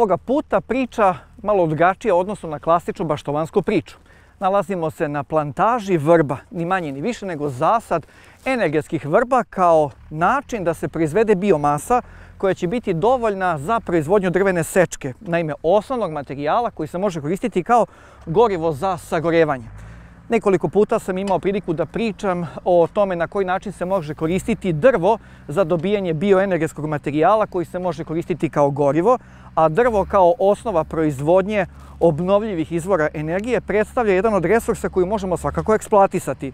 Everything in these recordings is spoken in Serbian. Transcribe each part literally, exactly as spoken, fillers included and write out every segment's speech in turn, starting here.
Ovoga puta priča malo drugačija u odnosu na klasičnu baštovansku priču. Nalazimo se na plantaži vrba, ni manje ni više nego zasad energetskih vrba kao način da se proizvede biomasa koja će biti dovoljna za proizvodnju drvene sečke, naime osnovnog materijala koji se može koristiti kao gorivo za sagorevanje. Nekoliko puta sam imao priliku da pričam o tome na koji način se može koristiti drvo za dobijanje bioenergetskog materijala koji se može koristiti kao gorivo, a drvo kao osnova proizvodnje obnovljivih izvora energije predstavlja jedan od resursa koji možemo svakako eksploatisati.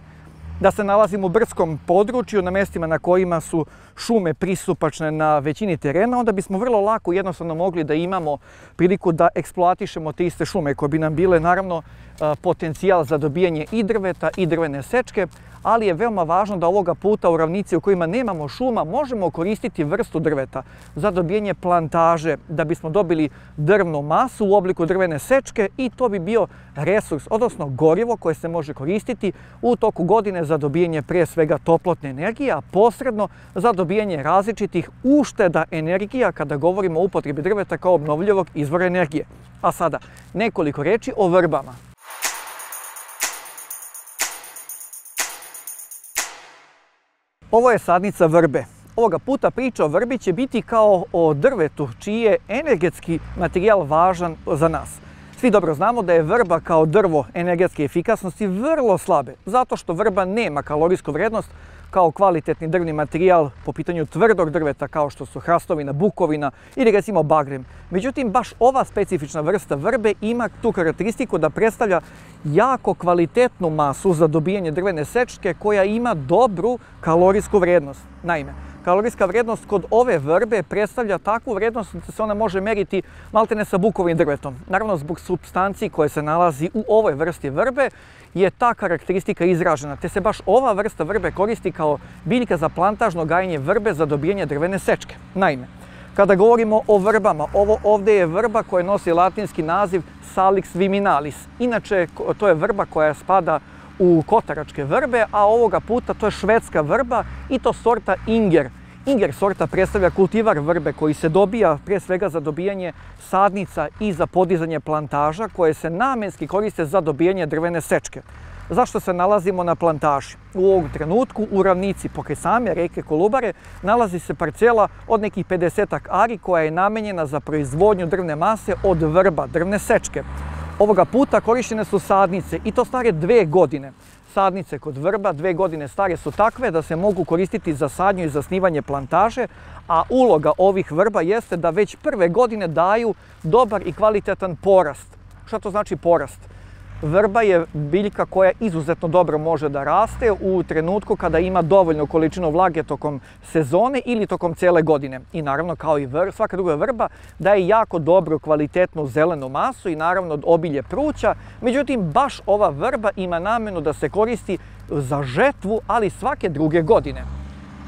Da se nalazimo u brdskom području, na mjestima na kojima su šume pristupačne na većini terena, onda bismo vrlo lako i jednostavno mogli da imamo priliku da eksploatišemo te iste šume koje bi nam bile naravno potencijal za dobijanje i drveta i drvene sečke, ali je veoma važno da ovoga puta u ravnici u kojima nemamo šuma možemo koristiti vrstu drveta za dobijanje plantaže da bismo dobili drvnu masu u obliku drvene sečke i to bi bio resurs, odnosno gorivo koje se može koristiti u toku godine za dobijanje pre svega toplotne energije, a posredno za dobijanje različitih ušteda energija kada govorimo o upotrebi drveta kao obnovljivog izvora energije. A sada nekoliko reči o vrbama. Ovo je sadnica vrbe. Ovoga puta priča o vrbi će biti kao o drvetu, čiji je energetski materijal važan za nas. Svi dobro znamo da je vrba kao drvo energetske efikasnosti vrlo slabe, zato što vrba nema kalorijsku vrednost kao kvalitetni drvni materijal po pitanju tvrdog drveta kao što su hrastovina, bukovina ili recimo bagrem. Međutim, baš ova specifična vrsta vrbe ima tu karakteristiku da predstavlja jako kvalitetnu masu za dobijanje drvene sečke koja ima dobru kalorijsku vrednost. Naime, kalorijska vrednost kod ove vrbe predstavlja takvu vrednost da se ona može meriti maltene sa bukovim drvetom. Naravno, zbog supstanci koje se nalazi u ovoj vrsti vrbe je ta karakteristika izražena, te se baš ova vrsta vrbe koristi kao biljka za plantažno gajenje vrbe za dobijanje drvene sečke. Naime, kada govorimo o vrbama, ovo ovdje je vrba koja nosi latinski naziv Salix viminalis. Inače, to je vrba koja spada u kotaračke vrbe, a ovoga puta to je švedska vrba i to sorta Inger. Inger sorta predstavlja kultivar vrbe koji se dobija pre svega za dobijanje sadnica i za podizanje plantaža koje se namenski koriste za dobijanje drvene sečke. Zašto se nalazimo na plantaži? U ovom trenutku u ravnici pokraj same reke Kolubare nalazi se parcela od nekih pedesetak ari koja je namenjena za proizvodnju drvne mase od vrba, drvne sečke. Ovoga puta korištene su sadnice i to stare dve godine. Sadnice kod vrba dve godine stare su takve da se mogu koristiti za sadnju i zasnivanje plantaže, a uloga ovih vrba jeste da već prve godine daju dobar i kvalitetan porast. Šta to znači porast? Vrba je biljka koja izuzetno dobro može da raste u trenutku kada ima dovoljnu količinu vlage tokom sezone ili tokom cele godine. I naravno, kao i vr, svaka druga vrba, daje jako dobru kvalitetnu zelenu masu i naravno obilje pruća. Međutim, baš ova vrba ima namenu da se koristi za žetvu, ali svake druge godine.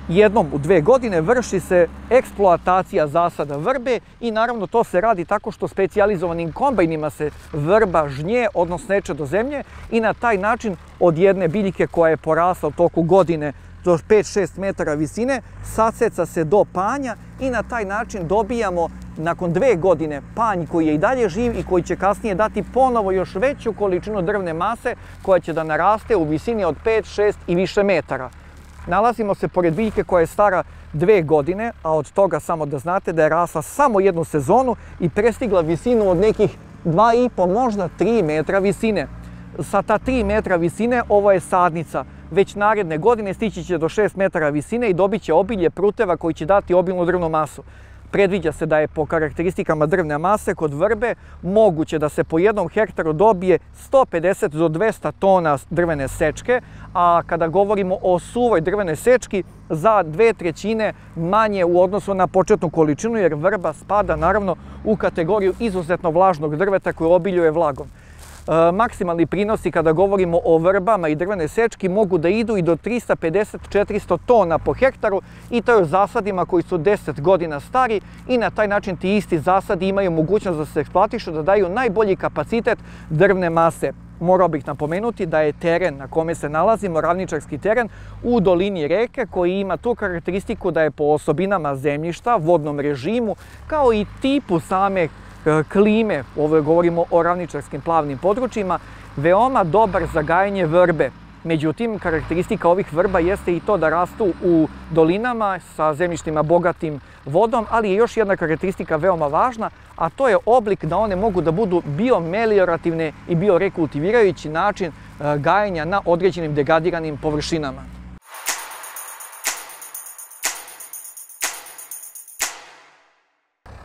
Jednom u dve godine vrši se eksploatacija zasada vrbe i naravno to se radi tako što specijalizovanim kombajnima se vrba žnje, odnosno sneče do zemlje i na taj način od jedne biljke koja je porasla u toku godine do pet do šest metara visine, saseca se do panja i na taj način dobijamo nakon dve godine panj koji je i dalje živ i koji će kasnije dati ponovo još veću količinu drvne mase koja će da naraste u visini od pet, šest i više metara. Nalazimo se pored biljke koja je stara dve godine, a od toga samo da znate da je rasla samo jednu sezonu i prestigla visinu od nekih dva i po, možda tri metra visine. Sa ta tri metra visine ovo je sadnica. Već naredne godine stići će do šest metara visine i dobit će obilje pruteva koji će dati obilnu drvnu masu. Predviđa se da je po karakteristikama drvne mase kod vrbe moguće da se po jednom hektaru dobije sto pedeset do dvesta tona drvene sečke, a kada govorimo o suvoj drvenoj sečki za dve trećine manje u odnosu na početnu količinu, jer vrba spada naravno u kategoriju izuzetno vlažnog drveta koje obiljuje vlagom. E, maksimalni prinosi kada govorimo o vrbama i drvenoj sečki mogu da idu i do trista pedeset do četiristo tona po hektaru i to je u zasadima koji su deset godina stari i na taj način ti isti zasadi imaju mogućnost da se eksploatišu, da daju najbolji kapacitet drvne mase. Morao bih napomenuti da je teren na kome se nalazimo, ravničarski teren, u dolini reke koji ima tu karakteristiku da je po osobinama zemljišta, vodnom režimu, kao i tipu same klime, ovo govorimo o ravničarskim plavnim područjima, veoma dobar za gajenje vrbe. Međutim, karakteristika ovih vrba jeste i to da rastu u dolinama sa zemljištima bogatim vodom, ali je još jedna karakteristika veoma važna, a to je oblik da one mogu da budu biomeliorativne i biorekultivirajući način gajenja na određenim degradiranim površinama.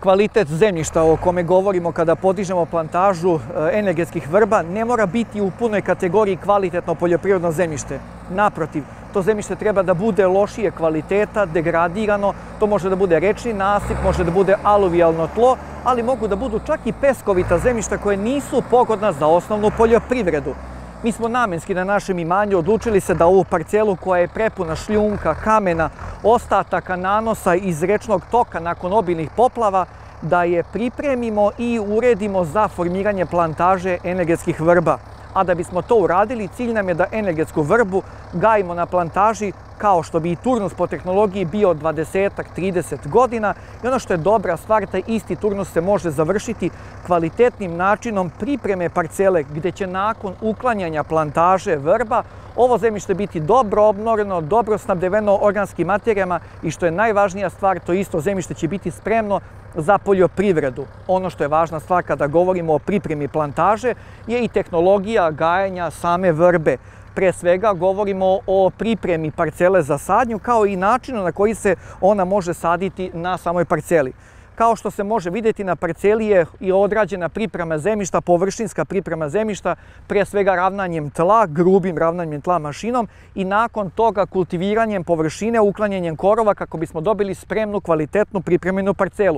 Kvalitet zemljišta o kome govorimo kada podižemo plantažu energetskih vrba ne mora biti u punoj kategoriji kvalitetno poljoprivredno zemljište. Naprotiv, to zemljište treba da bude lošije kvaliteta, degradirano, to može da bude rečni nasip, može da bude aluvijalno tlo, ali mogu da budu čak i peskovita zemljišta koje nisu pogodna za osnovnu poljoprivredu. Mi smo namenski na našem imanju odlučili se da ovu parcelu koja je prepuna šljunka, kamena, ostataka nanosa iz rečnog toka nakon obilnih poplava, da je pripremimo i uredimo za formiranje plantaže energetskih vrba. A da bismo to uradili, cilj nam je da energetsku vrbu gajimo na plantaži kao što bi i turnus po tehnologiji bio dvadeset do trideset godina i ono što je dobra stvar, taj isti turnus se može završiti kvalitetnim načinom pripreme parcele gdje će nakon uklanjanja plantaže vrba ovo zemljište biti dobro obnoreno, dobro snabdeveno organskim materijama i što je najvažnija stvar, to isto zemljište će biti spremno za poljoprivredu. Ono što je važna stvar kada govorimo o pripremi plantaže je i tehnologija gajenja same vrbe. Pre svega govorimo o pripremi parcele za sadnju kao i načinu na koji se ona može saditi na samoj parceli. Kao što se može vidjeti, na parceli je i odrađena priprema zemljišta, površinska priprema zemljišta, pre svega ravnanjem tla, grubim ravnanjem tla mašinom i nakon toga kultiviranjem površine, uklanjanjem korova kako bismo dobili spremnu, kvalitetnu pripremljenu parcelu.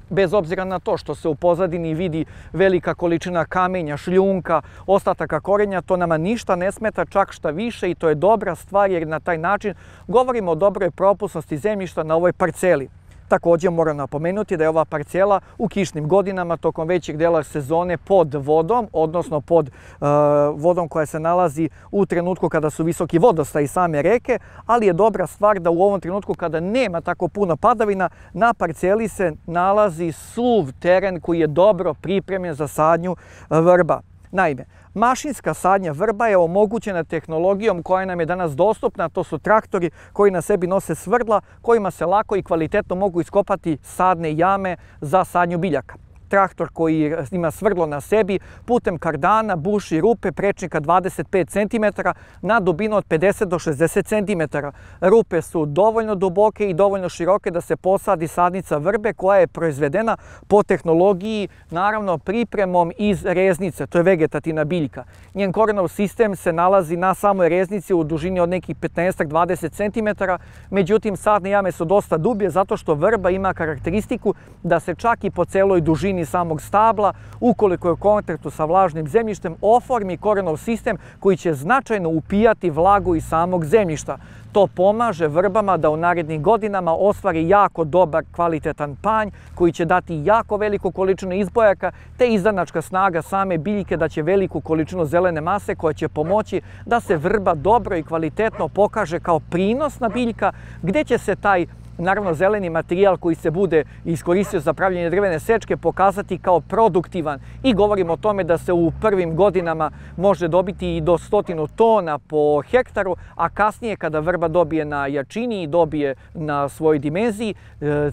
Bez obzira na to što se u pozadini vidi velika količina kamenja, šljunka, ostataka korenja, to nama ništa ne smeta, čak šta više i to je dobra stvar jer na taj način govorimo o dobroj propusnosti zemljišta na ovoj parceli. Također moram napomenuti da je ova parcela u kišnim godinama tokom većeg dela sezone pod vodom, odnosno pod uh, vodom koja se nalazi u trenutku kada su visoki vodostaji same reke, ali je dobra stvar da u ovom trenutku kada nema tako puno padavina, na parceli se nalazi suv teren koji je dobro pripremljen za sadnju vrba. Naime, mašinska sadnja vrba je omogućena tehnologijom koja nam je danas dostupna, to su traktori koji na sebi nose svrdla kojima se lako i kvalitetno mogu iskopati sadne jame za sadnju biljaka. Traktor koji ima svrdlo na sebi putem kardana buši rupe prečnika dvadeset pet centimetara na dubinu od pedeset do šezdeset centimetara. Rupe su dovoljno duboke i dovoljno široke da se posadi sadnica vrbe koja je proizvedena po tehnologiji, naravno pripremom iz reznice, to je vegetativna biljka. Njen korenov sistem se nalazi na samoj reznici u dužini od nekih petnaest do dvadeset centimetara, međutim sadne jame su dosta dublje zato što vrba ima karakteristiku da se čak i po celoj dužini samog stabla, ukoliko je u kontaktu sa vlažnim zemljištem, oformi korenov sistem koji će značajno upijati vlagu iz samog zemljišta. To pomaže vrbama da u narednim godinama ostvari jako dobar, kvalitetan panj koji će dati jako veliku količinu izbojaka, te izdanačka snaga same biljke da će veliku količinu zelene mase koja će pomoći da se vrba dobro i kvalitetno pokaže kao prinosna biljka, gdje će se taj naravno zeleni materijal koji se bude iskoristio za pravljenje drvene sečke pokazati kao produktivan i govorimo o tome da se u prvim godinama može dobiti i do stotinu tona po hektaru, a kasnije kada vrba dobije na jačini i dobije na svojoj dimenziji,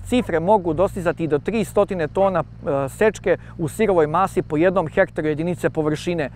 cifre mogu dostizati i do tristo tona sečke u sirovoj masi po jednom hektaru jedinice površine.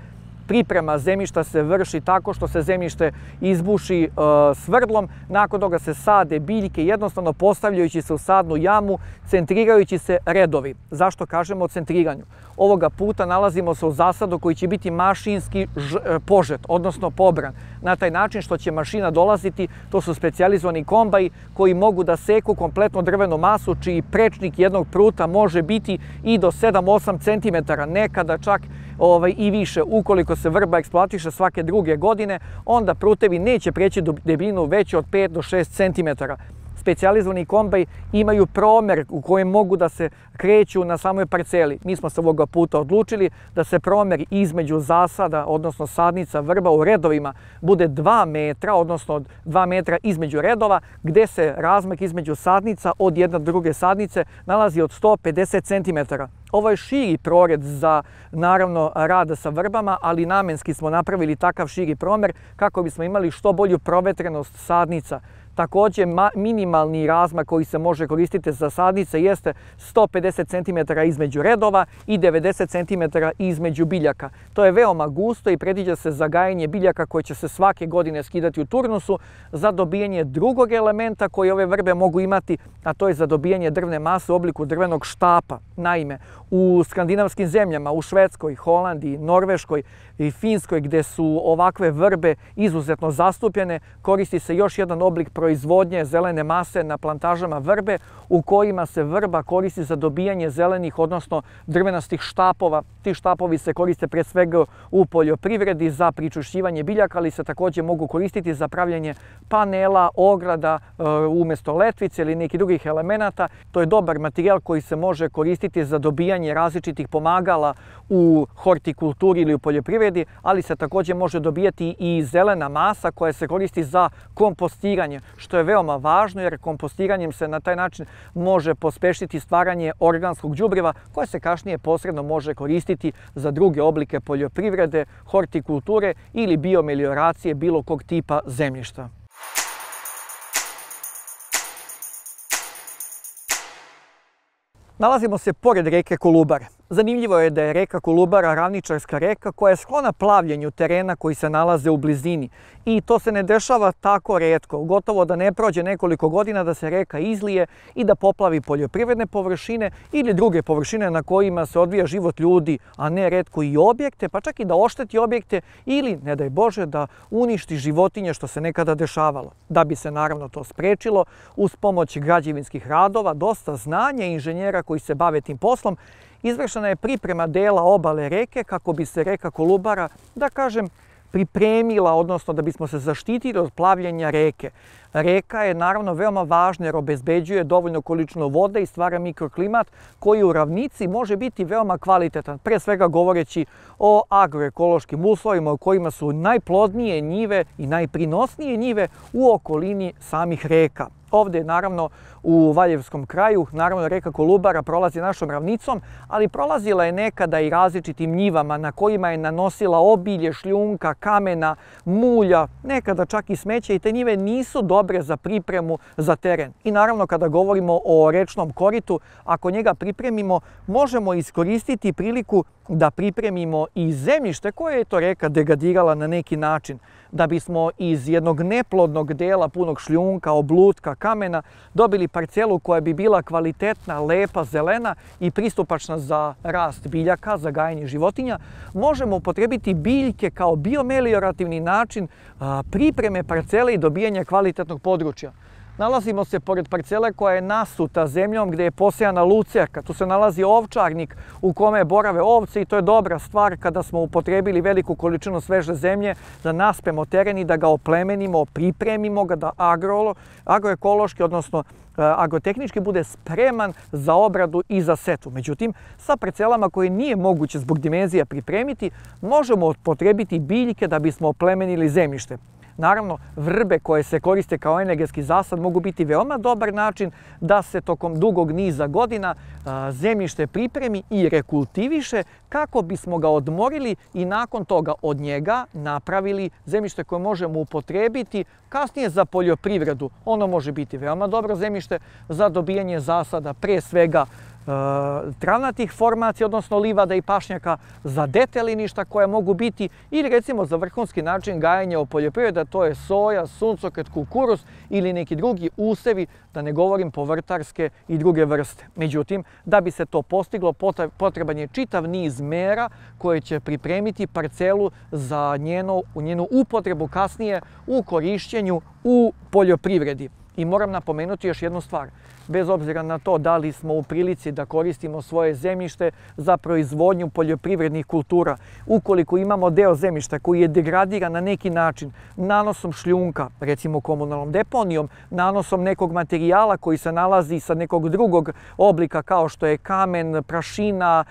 Priprema zemljišta se vrši tako što se zemljište izbuši e, svrdlom, nakon toga se sade biljke jednostavno postavljajući se u sadnu jamu, centrirajući se redovi. Zašto kažemo o centriranju? Ovoga puta nalazimo se u zasadu koji će biti mašinski ž, e, požet, odnosno pobran. Na taj način što će mašina dolaziti, to su specijalizovani kombaji koji mogu da seku kompletnu drvenu masu, čiji prečnik jednog pruta može biti i do sedam do osam centimetara, nekada čak ovaj, i više. Ukoliko se vrba eksploatiše svake druge godine, onda prutevi neće preći do debljinu veću od pet do šest centimetara. specijalizovani kombaj imaju promer u kojem mogu da se kreću na samoj parceli. Mi smo se ovoga puta odlučili da se promer između zasada, odnosno sadnica vrba u redovima, bude dva metra, odnosno dva metra između redova, gde se razmak između sadnica od jedne do druge sadnice nalazi od sto pedeset centimetara. Ovo je širi prored za, naravno, rad sa vrbama, ali namenski smo napravili takav širi promer kako bismo imali što bolju provetrenost sadnica. Također, minimalni razmak koji se može koristiti za sadnice jeste sto pedeset centimetara između redova i devedeset centimetara između biljaka. To je veoma gusto i predviđa se za gajenje biljaka koje će se svake godine skidati u turnusu za dobijanje drugog elementa koji ove vrbe mogu imati, a to je za dobijanje drvne mase u obliku drvenog štapa. Naime, u skandinavskim zemljama, u Švedskoj, Holandiji, Norveškoj i Finskoj, gde su ovakve vrbe izuzetno zastupljene, koristi se još jedan oblik proizvodnje zelene mase na plantažama vrbe u kojima se vrba koristi za dobijanje zelenih, odnosno drvenastih štapova. Ti štapovi se koriste pre svega u poljoprivredi za pričušćivanje biljaka, ali se također mogu koristiti za pravljanje panela, ograda umjesto letvice ili nekih drugih elemenata. To je dobar materijal koji se može koristiti za dobijanje različitih pomagala u hortikulturi ili u poljoprivredi, ali se također može dobijati i zelena masa koja se koristi za kompostiranje, što je veoma važno jer kompostiranjem se na taj način može pospešiti stvaranje organskog đubriva koje se kasnije posredno može koristiti za druge oblike poljoprivrede, hortikulture ili biomelioracije bilo kog tipa zemljišta. Nalazimo se pored reke Kolubare. Zanimljivo je da je reka Kolubara ravničarska reka koja je sklona plavljenju terena koji se nalaze u blizini. I to se ne dešava tako retko. Gotovo da ne prođe nekoliko godina da se reka izlije i da poplavi poljoprivredne površine ili druge površine na kojima se odvija život ljudi, a ne retko i objekte, pa čak i da ošteti objekte ili, ne daj Bože, da uništi životinje što se nekada dešavalo. Da bi se naravno to sprečilo, uz pomoć građevinskih radova, dosta znanja i inženjera koji se bave tim poslom, izvršena je priprema dela obale reke kako bi se reka Kolubara, da kažem, pripremila, odnosno da bismo se zaštitili od plavljenja reke. Reka je naravno veoma važna jer obezbeđuje dovoljnu količinu vode i stvara mikroklimat koji u ravnici može biti veoma kvalitetan, pre svega govoreći o agroekološkim uslovima u kojima su najplodnije njive i najprinosnije njive u okolini samih reka. Ovdje, naravno, u Valjevskom kraju, naravno, reka Kolubara prolazi našom ravnicom, ali prolazila je nekada i različitim njivama na kojima je nanosila obilje, šljunka, kamena, mulja, nekada čak i smeća i te njive nisu dobre za pripremu za teren. I naravno, kada govorimo o rečnom koritu, ako njega pripremimo, možemo iskoristiti priliku da pripremimo i zemljište koje je to reka degradirala na neki način, da bismo iz jednog neplodnog dela punog šljunka, oblutka, kamena dobili parcelu koja bi bila kvalitetna, lepa, zelena i pristupačna za rast biljaka, za gajenje životinja, možemo upotrebiti biljke kao biomeliorativni način pripreme parcele i dobijanja kvalitetnog područja. Nalazimo se pored parcele koja je nasuta zemljom gdje je posejana lucerka. Tu se nalazi ovčarnik u kome borave ovce i to je dobra stvar kada smo upotrebili veliku količinu sveže zemlje da naspemo teren i da ga oplemenimo, pripremimo ga da agro, agroekološki, odnosno agrotehnički bude spreman za obradu i za setvu. Međutim, sa parcelama koje nije moguće zbog dimenzija pripremiti, možemo upotrebiti biljke da bismo oplemenili zemljište. Naravno, vrbe koje se koriste kao energetski zasad mogu biti veoma dobar način da se tokom dugog niza godina zemljište pripremi i rekultiviše kako bismo ga odmorili i nakon toga od njega napravili zemljište koje možemo upotrebiti kasnije za poljoprivredu. Ono može biti veoma dobro zemljište za dobijanje zasada, pre svega travnatih formacija, odnosno livada i pašnjaka, za deteliništa koje mogu biti ili recimo za vrhunski način gajenja u poljoprivredi, to je soja, suncokret, kukuruz ili neki drugi usevi, da ne govorim povrtarske i druge vrste. Međutim, da bi se to postiglo, potreban je čitav niz mera koje će pripremiti parcelu za njenu, njenu upotrebu kasnije u korišćenju u poljoprivredi. I moram napomenuti još jednu stvar. Bez obzira na to da li smo u prilici da koristimo svoje zemljište za proizvodnju poljoprivrednih kultura, ukoliko imamo deo zemljišta koji je degradiran na neki način, nanosom šljunka, recimo komunalnom deponijom, nanosom nekog materijala koji se nalazi sa nekog drugog oblika kao što je kamen, prašina,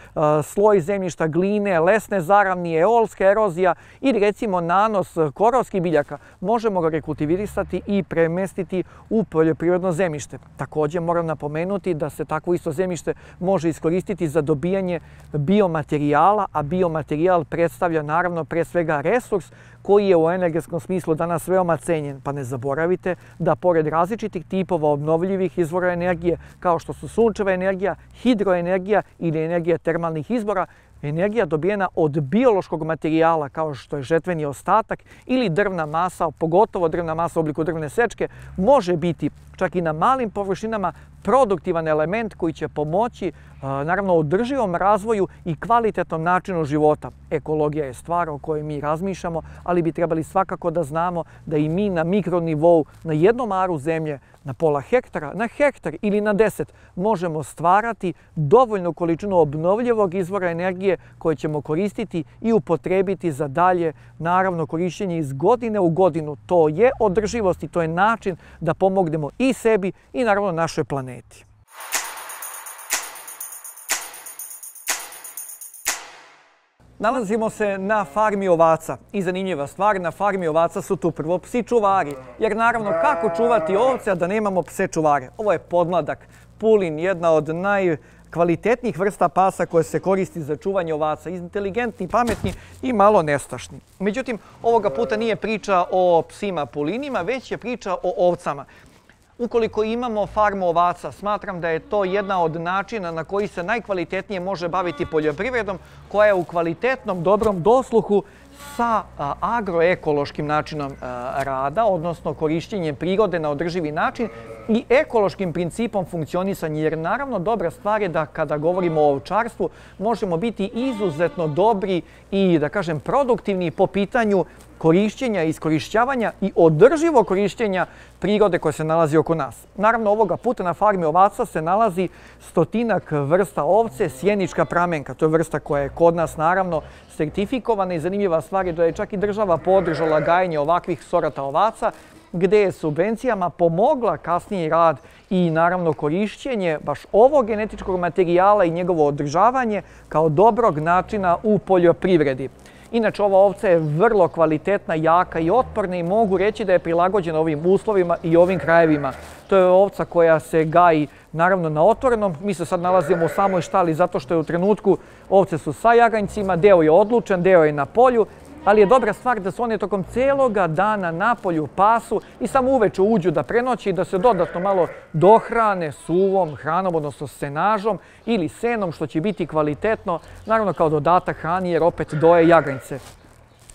sloj zemljišta, gline, lesne zaravnije, eolska erozija ili recimo nanos korovskih biljaka, možemo ga rekultivisati i premestiti u poljoprivredno zemljište. Također moram napomenuti da se takvo isto zemljište može iskoristiti za dobijanje biomaterijala, a biomaterijal predstavlja naravno pre svega resurs koji je u energetskom smislu danas veoma cenjen. Pa ne zaboravite da pored različitih tipova obnovljivih izvora energije, kao što su sunčeva energija, hidroenergija ili energija termalnih izvora, energija dobijena od biološkog materijala kao što je žetveni ostatak ili drvna masa, pogotovo drvna masa u obliku drvne sečke, može biti čak i na malim površinama produktivan element koji će pomoći naravno održivom razvoju i kvalitetnom načinu života. Ekologija je stvar o kojoj mi razmišljamo, ali bi trebali svakako da znamo da i mi na mikronivou, na jednom aru zemlje, na pola hektara, na hektar ili na deset, možemo stvarati dovoljnu količinu obnovljivog izvora energije koje ćemo koristiti i upotrebiti za dalje, naravno, korišćenje iz godine u godinu. To je održivost i to je način da pomognemo i sebi i naravno našoj planeti. Nalazimo se na farmi ovaca i zanimljiva stvar, na farmi ovaca su tu prvo psi čuvari, jer naravno kako čuvati ovce a da nemamo pse čuvare? Ovo je podmladak, pulin, jedna od najkvalitetnijih vrsta pasa koje se koristi za čuvanje ovaca, inteligentni, pametni i malo nestašni. Međutim, ovoga puta nije priča o psima pulinima, već je priča o ovcama. Ukoliko imamo farmu ovaca, smatram da je to jedna od načina na koji se najkvalitetnije može baviti poljoprivredom, koja je u kvalitetnom, dobrom dosluhu sa agroekološkim načinom rada, odnosno korišćenjem prirode na održivi način i ekološkim principom funkcionisanja. Jer naravno dobra stvar je da kada govorimo o ovčarstvu možemo biti izuzetno dobri i da kažem produktivni po pitanju korišćenja, iskorišćavanja i održivog korišćenja prirode koja se nalazi oko nas. Naravno, ovoga puta na farmi ovaca se nalazi stotinak vrsta ovce, sjenička pramenka. To je vrsta koja je kod nas naravno sertifikovana i zanimljiva stvar je da je čak i država podržala gajenje ovakvih sorata ovaca, gde je subvencijama pomogla kasniji rad i naravno korišćenje baš ovog genetičkog materijala i njegovo održavanje kao dobrog načina u poljoprivredi. Inače, ova ovca je vrlo kvalitetna, jaka i otporna i mogu reći da je prilagođena ovim uslovima i ovim krajevima. To je ovca koja se gaji naravno na otvorenom. Mi se sad nalazimo u samoj štali zato što je u trenutku ovce su sa jaganjcima, deo je odlučen, deo je na polju, ali je dobra stvar da se one tokom celoga dana na polju pasu i samo uveče uđu da prenoći i da se dodatno malo dohrane suvom hranom, odnosno senažom ili senom, što će biti kvalitetno, naravno kao dodatak hrani jer opet doje jaganjce.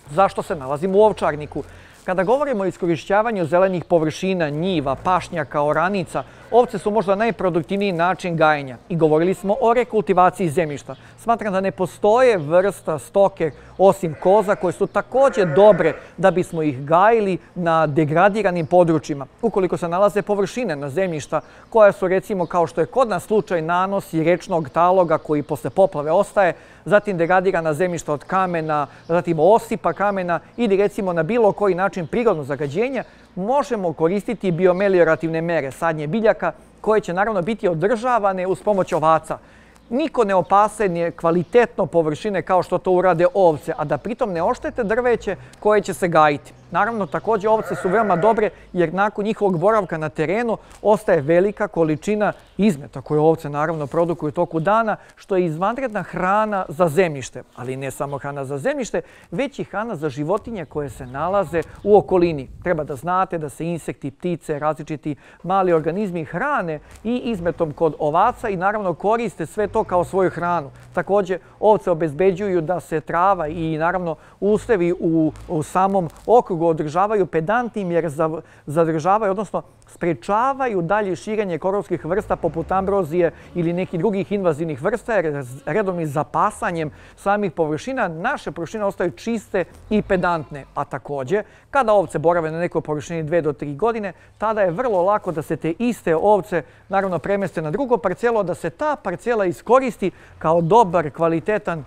Zašto se nalazimo u ovčarniku? Kada govorimo o iskorišćavanju zelenih površina, njiva, pašnjaka, oranica, ovce su možda najproduktivniji način gajenja i govorili smo o rekultivaciji zemljišta. Smatram da ne postoje vrsta stoke osim koza koje su također dobre da bismo ih gajili na degradiranim područjima. Ukoliko se nalaze površine na zemljišta koja su recimo kao što je kod nas slučaj nanosi rečnog taloga koji posle poplave ostaje, zatim degradirana zemljišta od kamena, zatim osipa kamena ili recimo na bilo koji način prirodnog zagađenja, možemo koristiti biomeliorativne mere sadnje biljaka koje će naravno biti održavane uz pomoć ovaca. Niko ne opasenje kvalitetno površine kao što to urade ovce, a da pritom ne oštete drveće koje će se gajiti. Naravno, također ovce su veoma dobre jer nakon njihovog boravka na terenu ostaje velika količina izmeta koje ovce naravno produkuju u toku dana, što je izvanredna hrana za zemljište. Ali ne samo hrana za zemljište, već i hrana za životinje koje se nalaze u okolini. Treba da znate da se insekti, ptice, različiti mali organizmi hrane i izmetom kod ovaca i naravno koriste sve to to kao svoju hranu. Također, ovce obezbeđuju da se trava i naravno usevi u, u samom okrugu održavaju pedantnim jer zadržavaju, odnosno sprečavaju dalje širenje korovskih vrsta poput ambrozije ili nekih drugih invazivnih vrsta jer redovnim zapasanjem samih površina naše površine ostaju čiste i pedantne. A također, kada ovce borave na nekoj površini dve do tri godine, tada je vrlo lako da se te iste ovce naravno premeste na drugo parcelo, da se ta parcela iskoristi kao dobar, kvalitetan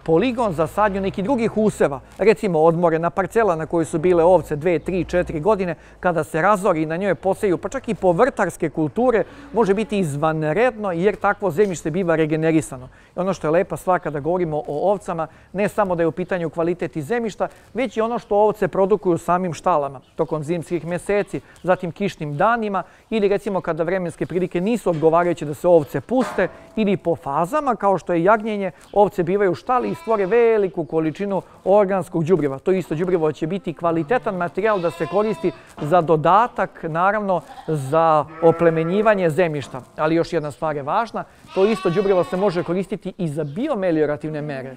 poligon za sadnju nekih drugih useva. Recimo odmorena parcela na kojoj su bile ovce dve, tri, četiri godine, kada se razori i na njoj poseju, pa čak i povrtarske kulture, može biti izvanredno jer takvo zemljište biva regenerisano. I ono što je lepa stvar kada govorimo o ovcama, ne samo da je u pitanju kvalitet i zemljišta, već i ono što ovce produkuju samim štalama tokom zimskih mjeseci, zatim kišnim danima ili recimo kada vremenske prilike nisu odgovarajuće da se ovce puste ili po fazama kao što je jagnjenje, ovce bivaju u štali i stvore veliku količinu organskog đubriva. To isto đubrivo će biti kvalitetan materijal da se koristi za dodatak, naravno za oplemenjivanje zemljišta. Ali još jedna stvar je važna, to isto đubrivo se može koristiti i za biomeliorativne mere.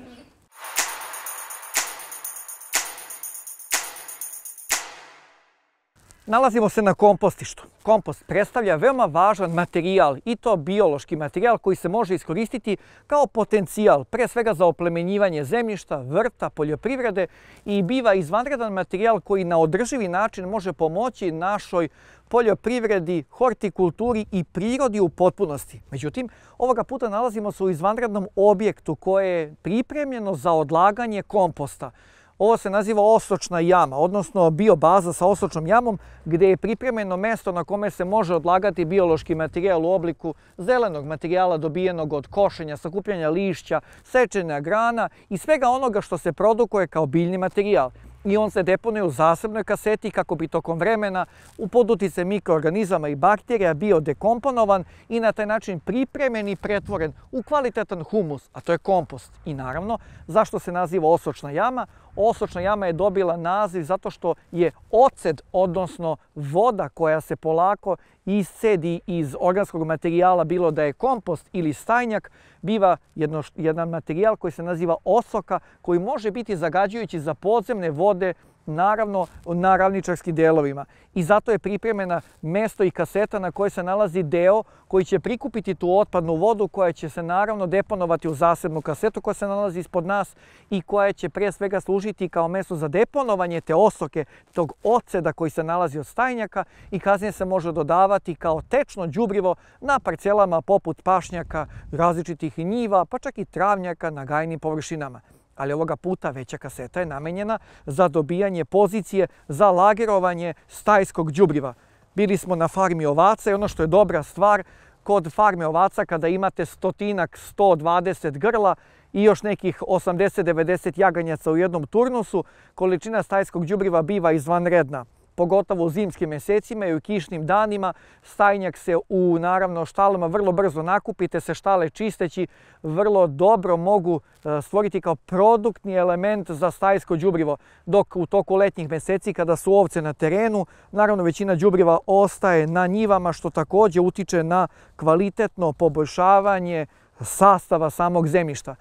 Nalazimo se na kompostištu. Kompost predstavlja veoma važan materijal i to biološki materijal koji se može iskoristiti kao potencijal, pre svega za oplemenjivanje zemljišta, vrta, poljoprivrede i biva izvanredan materijal koji na održivi način može pomoći našoj poljoprivredi, hortikulturi i prirodi u potpunosti. Međutim, ovoga puta nalazimo se u izvanrednom objektu koje je pripremljeno za odlaganje komposta. Ovo se naziva osočna jama, odnosno biobaza sa osočnom jamom, gdje je pripremljeno mjesto na kome se može odlagati biološki materijal u obliku zelenog materijala dobijenog od košenja, sakupljanja lišća, sečenja grana i svega onoga što se produkuje kao biljni materijal. I on se deponuje u zasebnoj kaseti kako bi tokom vremena u pod uticajem mikroorganizama i bakterija bio dekomponovan i na taj način pripremljen i pretvoren u kvalitetan humus, a to je kompost. I naravno, zašto se naziva osočna jama? Osočna jama je dobila naziv zato što je oced, odnosno voda koja se polako iscedi iz organskog materijala, bilo da je kompost ili stajnjak, biva jedno, jedan materijal koji se naziva osoka, koji može biti zagađujući za podzemne vode, naravno na ravničarskim delovima. I zato je pripremljena mesto i kaseta na kojoj se nalazi deo koji će prikupiti tu otpadnu vodu koja će se naravno deponovati u zasebnu kasetu koja se nalazi ispod nas i koja će pre svega služiti kao mesto za deponovanje te osoke, tog oceda koji se nalazi od stajnjaka i kasnije se može dodavati kao tečno đubrivo na parcelama poput pašnjaka, različitih njiva, pa čak i travnjaka na gajnim površinama. Ali ovoga puta veća kaseta je namenjena za dobijanje pozicije za lagerovanje stajskog đubriva. Bili smo na farmi ovaca i ono što je dobra stvar, kod farme ovaca kada imate stotinak, sto dvadeset grla i još nekih osamdeset do devedeset jaganjaca u jednom turnusu, količina stajskog đubriva biva izvanredna. Pogotovo u zimskim mjesecima i u kišnim danima, stajnjak se u naravno štalama vrlo brzo nakupi, te se štale čisteći vrlo dobro mogu stvoriti kao produktni element za stajsko đubrivo. Dok u toku letnjih mjeseci kada su ovce na terenu, naravno većina đubriva ostaje na njivama što također utiče na kvalitetno poboljšavanje sastava samog zemljišta.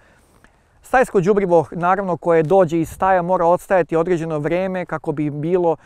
Stajsko đubrivo, naravno, koje dođe iz staja mora odstajati određeno vrijeme kako bi bilo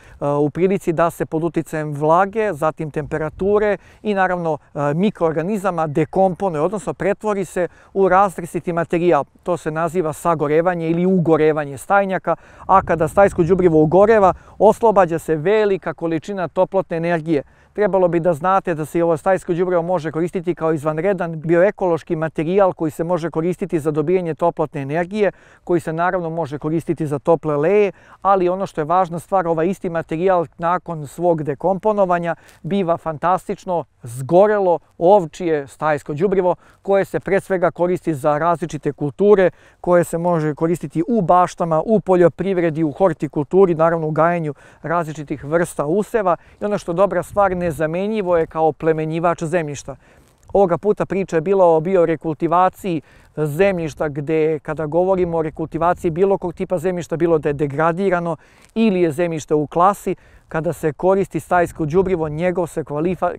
u prilici da se pod uticajem vlage, zatim temperature i naravno mikroorganizama dekomponuje, odnosno pretvori se u raztresiti materijal. To se naziva sagorevanje ili ugorevanje stajnjaka, a kada stajsko đubrivo ugoreva, oslobađa se velika količina toplotne energije. Trebalo bi da znate da se i ovo stajsko đubrivo može koristiti kao izvanredan bioekološki materijal koji se može koristiti za dobijanje toplotne energije, koji se naravno može koristiti za tople leje, ali ono što je važna stvar, ovaj isti materijal nakon svog dekomponovanja biva fantastično zgorelo ovčije stajsko đubrivo koje se pre svega koristi za različite kulture, koje se može koristiti u baštama, u poljoprivredi, u hortikulturi, naravno u gajenju različitih vrsta useva i ono što je dobra stvar, nezamenjivo je kao oplemenjivač zemljišta. Ovoga puta priča je bila o biorekultivaciji zemljišta gdje kada govorimo o rekultivaciji bilo kog tipa zemljišta, bilo da je degradirano ili je zemljište u klasi, kada se koristi stajsko đubrivo, njegov se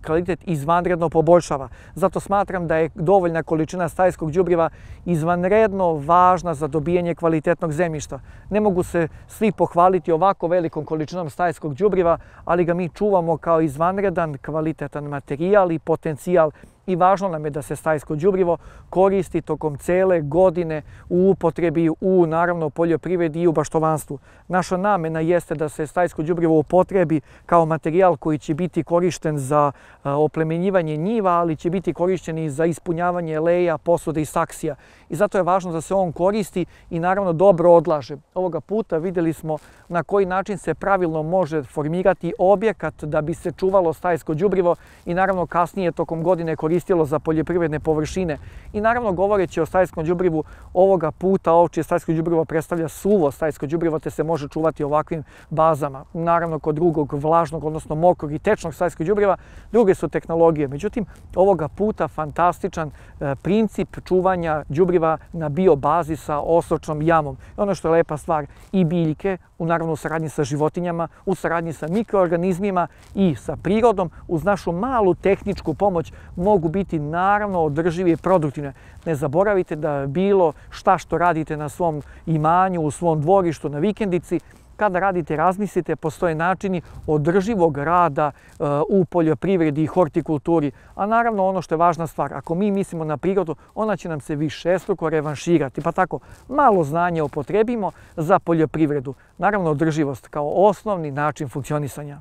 kvalitet izvanredno poboljšava. Zato smatram da je dovoljna količina stajskog đubriva izvanredno važna za dobijanje kvalitetnog zemljišta. Ne mogu se svi pohvaliti ovako velikom količinom stajskog đubriva, ali ga mi čuvamo kao izvanredan kvalitetan materijal i potencijal. I važno nam je da se stajsko đubrivo koristi tokom cele godine u upotrebi, u naravno poljoprivredi i u baštovanstvu. Naša namena jeste da se stajsko đubrivo upotrebi kao materijal koji će biti korišten za oplemenjivanje njiva, ali će biti korišten i za ispunjavanje leja, posude i saksija. I zato je važno da se on koristi i naravno dobro odlaže. Ovoga puta vidjeli smo na koji način se pravilno može formirati objekat da bi se čuvalo stajsko đubrivo i naravno kasnije tokom godine koristilo za poljoprivredne površine. I naravno govoreći o stajskom đubrivu, ovoga puta ovčje stajsko đubrivo predstavlja suvo stajsko đubrivo te se može čuvati ovakvim bazama. Naravno kod drugog vlažnog, odnosno mokrog i tečnog stajskog đubriva druge su tehnologije. Međutim, ovoga puta fantastičan princip čuvanja đubriva na biobazi sa osočnom jamom. Ono što je lepa stvar, i biljke, u naravno u saradnji sa životinjama, u saradnji sa mikroorganizmima i sa prirodom, uz našu malu tehničku pomoć mogu biti naravno održive i produktivne. Ne zaboravite da bilo šta što radite na svom imanju, u svom dvorištu, na vikendici, kada radite, razmislite, postoje načini održivog rada u poljoprivredi i hortikulturi. A naravno ono što je važna stvar, ako mi mislimo na prirodu, ona će nam se višestruko revanširati. Pa tako, malo znanja upotrebimo za poljoprivredu. Naravno održivost kao osnovni način funkcionisanja.